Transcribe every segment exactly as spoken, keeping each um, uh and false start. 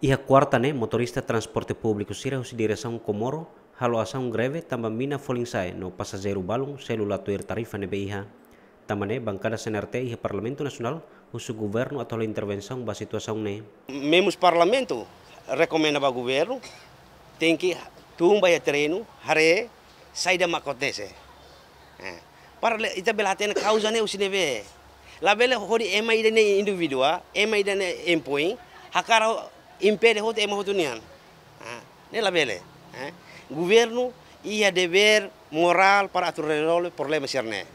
Iha kuarta ne'e, motorista transporte públiku sira husi diresaun Comoro halo asaun greve tanba mina folin sa'e no pasajeiru balun selu la tuir tarifa ne'ebé iha. Tanba ne'e, bankada C N R T iha Parlamentu Nasionál husu governu atu halo intervensaun ba situasaun ne'e. Membru Parlamentu rekomenda ba governu tenke tun ba iha terrenu, haree saida mak akontese. Eh, para le, ita bele hatene kauza ne'e husi ne'ebé. Labele hodi ema ida ne'e indivídua, ema ida ne'e empoin, hakarak impede hotu ema hotu nian. Ah, ne'e labele. Eh, governu iha devér morál para atu rezolve problema sira-ne'e.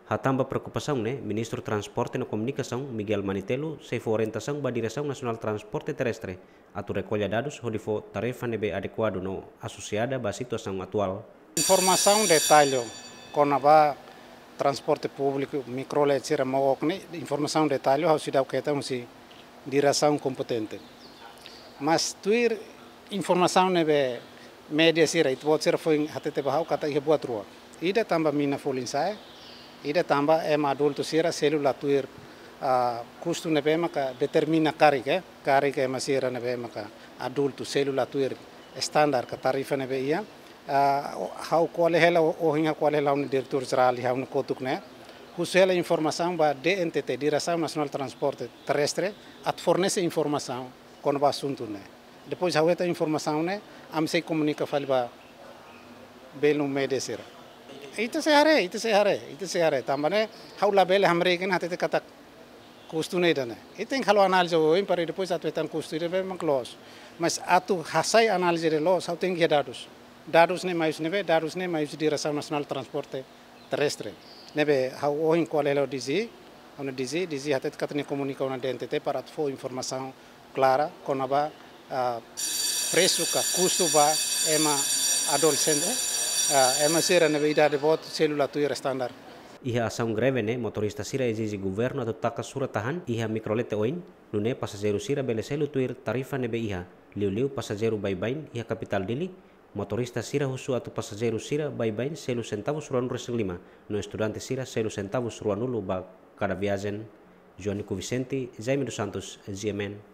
Hatán ba preokupasaun ne'e, Ministru Transporte no Komunikasaun, Miguel Manitelu, sei fó orientasaun ba Diresaun Nasionál Transporte Terrestre atu rekolla dadus hodi fó tarifa ne'ebé adekuadu no asosiada ba situasaun atuál. Informasaun detalle kona-ba transporte públiku, mikrolet sira, mook ne'e, informasaun detalle ha'u seidauk hetan husi diresaun kompetente. Mas tuir informasaun ne'ebé média sira, ita-boot sira foin hatete ba ha'u katak iha buat rua. Ida tanba mina folin sa'e, ida tanba ema adultu sira selu la tuir, ah, kustu ne'ebé maka determina karik, eh, karik ema sira ne'ebé maka adultu selu la tuir standar ka tarifa ne'ebé iha. Ah, o-, ha'u ko'alia hela, o-, ohin ha'u ko'alia hela ho diretór jerál, ha'u-nia kotuk ne'e. Husu hela informasaun ba D N T T, Diresaun Nasionál Transporte Terrestre, atu fornese informasaun kona-ba asuntu ne'e. Depois ha'u hetan informasaun ne'e, ami sei komunika fali ba belun média sira. Ita sei haree, ita sei haree, ita sei haree. Tanba ne'e, ha'u labele hamriik ona hatete katak kustu ne'e ida-ne'e. Ita tenke halo análize oioin para depois atu hetan kustu ida-ne'ebé mak loos. Mas atu hasai análize ida loos, ha'u tenke iha dadus. Dadus ne'e mai husi ne'ebé, dadus ne'e mai husi Diresaun Nasionál Transporte Terrestre. Ne'ebé ha'u ohin ko'alia hela ho D G, ha'u-nia D G, D G hatete katak nia komunika ona D N T T para atu fó informasaun klara kona-ba, ah, presu ka kustu ba ema adolexente, ah, ema sira ne'ebé idade boot selu la tuir standar. Iha asaun greve ne'e, motorista sira ezije governu atu taka surat-tahan iha mikrolet oioin, nune'e pasajeiru sira bele selu tuir tarifa ne'ebé iha, liuliu pasajeiru baibain iha kapitál Dili. Motorista sira husu atu pasajeiru sira baibain selu sentavus ruanulu-resin-lima, no estudante sira selu sentavus ruanulu ba kada viajen. Joanico Vicente, Jaime dos Santos, G M N.